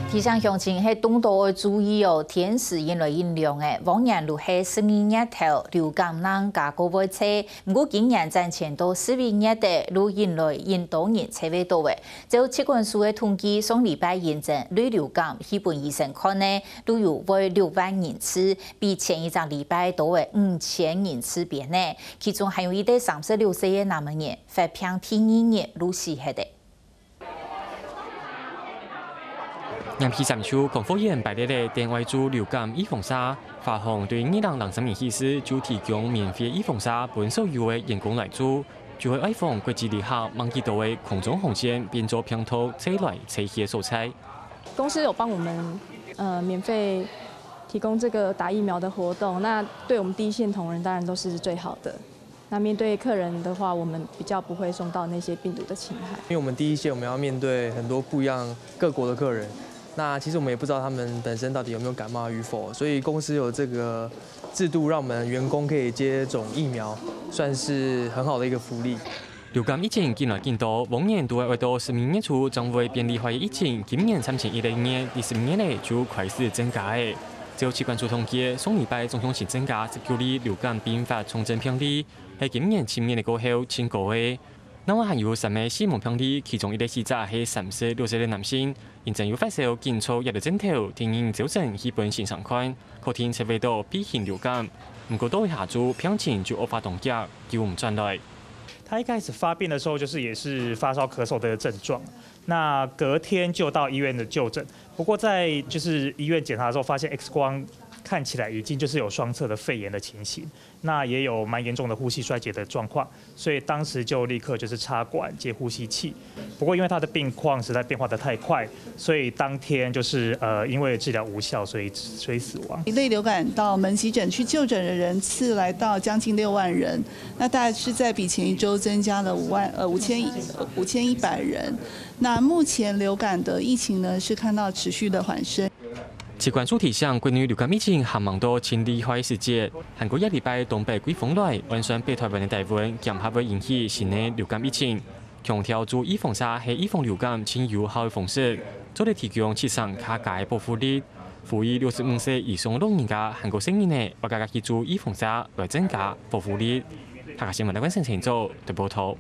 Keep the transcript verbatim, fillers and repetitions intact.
提醒鄉親係當多愛注意哦，天時因來因涼誒，往年就係十二月頭流感人加過會濟，毋過今年暫時到十一月底，就因來因多人濟會到誒。照疾管署个統計，上禮拜認證類流感去分醫生看呢，就有會六萬人次，比前一隻禮拜多誒五千人次邊呢。其中還有一對三十六歲个男仔人，發病第二日就死忒誒。 南區三區公務員排列个等愛做流感預防射，發放對二零零三年起始就提供免費預防射分所有个員工來做，就係愛防國際旅客吂幾多个空中航線變做病毒吹來吹去个所在。公司有幫我們呃免費提供這個打疫苗的活動，那對我們第一線同仁當然都是最好的。 那面對客人的話，我們比較不會受到那些病毒的侵害。因為我們第一線我們要面對很多不一樣各國的客人，那其實我們也不知道他們本身到底有沒有感冒與否，所以公司有這個制度讓我們員工可以接種疫苗，算是很好的一個福利。流感疫情緊來緊多，往年都係愛到十二月初正會變厲害个疫情，今年暫時一月，二十月呢就開始增加誒。照疾管署統計，上禮拜總共新增加十九例流感併發重症病例， 係今年七月个過後盡高个。另外還有三个死亡病例，其中一个死者係三十六歲个男性，因為有發燒緊著藥到症頭，定定朝晨去分先生看，確定測會到B型流感。毋過到下晝病情就惡化當遽，救毋轉來。他一開始發病的時候，就是也是發燒、咳嗽的症状，那隔天就到醫院的就诊。不過在就是醫院檢查的时候，發现 X 光看起来已经就是有双侧的肺炎的情形，那也有蛮严重的呼吸衰竭的状况，所以当时就立刻就是插管接呼吸器。不过因为他的病况实在变化的太快，所以当天就是呃因为治疗无效，所以所以死亡。类流感到门急诊去就诊的人次来到将近六万人，那大概是在比前一周增加了五万呃五千五千一百人。那目前流感的疫情呢是看到持续的缓升。 疾管署提醒，國內流感疫情還吂到盡厲害時節，還過這禮拜東北季風來，按算北台灣个低溫，驚還會引起新个流感疫情。強調注預防射係預防流感盡有效个方式，做得提供七成較加个保護力。呼籲六十五歲以上老人家還過細人仔，愛加加去注預防射，來增加保護力。客家新聞台灣新聞組報導。